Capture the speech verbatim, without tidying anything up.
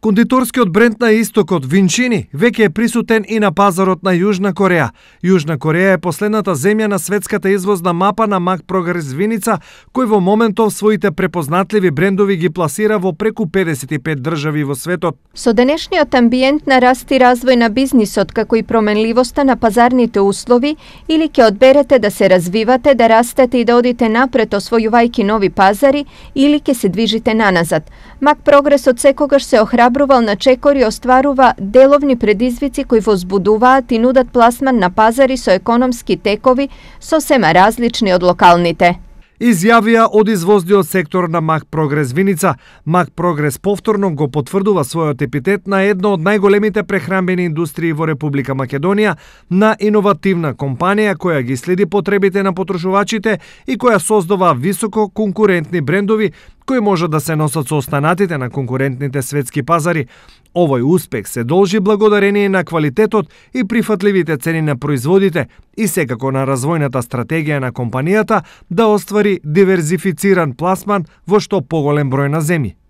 Кондиторскиот бренд на истокот Винчини веќе е присутен и на пазарот на Јужна Кореја. Јужна Кореја е последната земја на светската извозна мапа на Мак Прогрес виница, кој во моментов своите препознатливи брендови ги пласира во преку педесет и пет држави во светот. Со денешниот амбиент на раст и развој на бизнисот, како и променливоста на пазарните услови, или ќе одберете да се развивате, да растете и да одите напред освојувајќи нови пазари, или ќе се движите наназад. Мак Прогрес од секогаш се охрабрува на чекор и остварува деловни предизвици кои возбудуваат и нудат пласман на пазари со економски текови сосема различни од локалните. Изјавија од извозниот сектор на Мак Прогрес виница. Мак Прогрес повторно го потврдува својот епитет на едно од најголемите прехранбени индустрии во Република Македонија, на иновативна компанија која ги следи потребите на потрошувачите и која создава високо конкурентни брендови кои може да се носат со останатите на конкурентните светски пазари. Овој успех се должи благодарение на квалитетот и прифатливите цени на производите и секако на развојната стратегија на компанијата да оствари диверзифициран пласман во што поголем број на земји.